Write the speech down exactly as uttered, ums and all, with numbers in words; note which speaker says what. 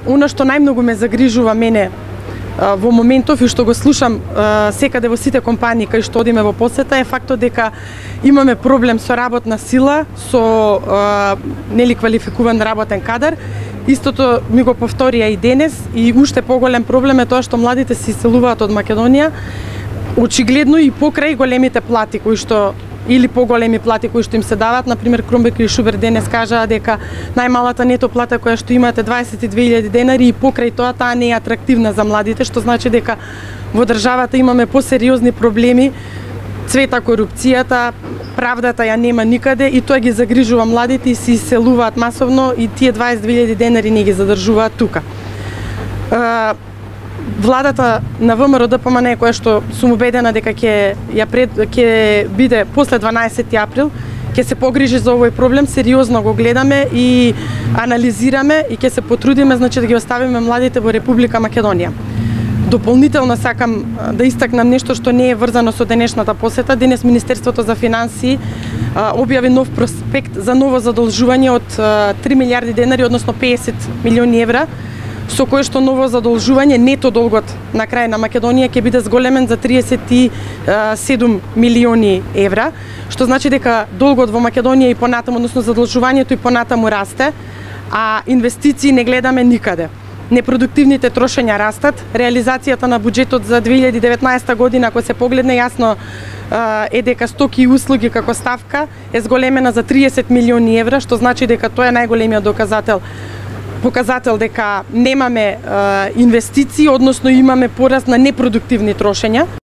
Speaker 1: Оно што најмногу ме загрижува мене во моментов и што го слушам секаде во сите компании кај што одиме во посета е фактот дека имаме проблем со работна сила, со нели квалификуван работен кадар. Истото ми го повторија и денес и уште поголем проблем е тоа што младите се иселуваат од Македонија очигледно и покрај големите плати кои што или поголеми плати кои што им се даваат. Например, Кромбек и Шубер денес кажаа дека најмалата нето плата која што имате дваесет и две илјади денари и покрај тоа таа не е атрактивна за младите, што значи дека во државата имаме посериозни проблеми, цвета корупцијата, правдата ја нема никаде и тоа ги загрижува младите и се иселуваат масовно и тие дваесет и две илјади денари не ги задржуваат тука. Владата на ВМРО-ДПМНЕ која што сум убедена дека ќе ја пред ќе биде после дванаесети април, ќе се погрижи за овој проблем, сериозно го гледаме и анализираме и ќе се потрудиме значи да ги оставиме младите во Република Македонија. Дополнително сакам да истакнам нешто што не е врзано со денешната посета. Денес Министерството за финансии објави нов проспект за ново задолжување од три милиарди денари, односно песет милиони евра, со кое што ново задолжување, нето долгот на крај на Македонија ќе биде зголемен за триесет и седум милиони евра, што значи дека долгот во Македонија и понатаму, односно задолжувањето и понатаму расте, а инвестиции не гледаме никаде. Непродуктивните трошења растат, реализацијата на буџетот за две илјади и деветнаесета година, ако се погледне јасно, е дека стоки и услуги како ставка е зголемена за триесет милиони евра, што значи дека тоа е најголемиот доказател показател дека немаме е, инвестиции, односно имаме пораст на непродуктивни трошења.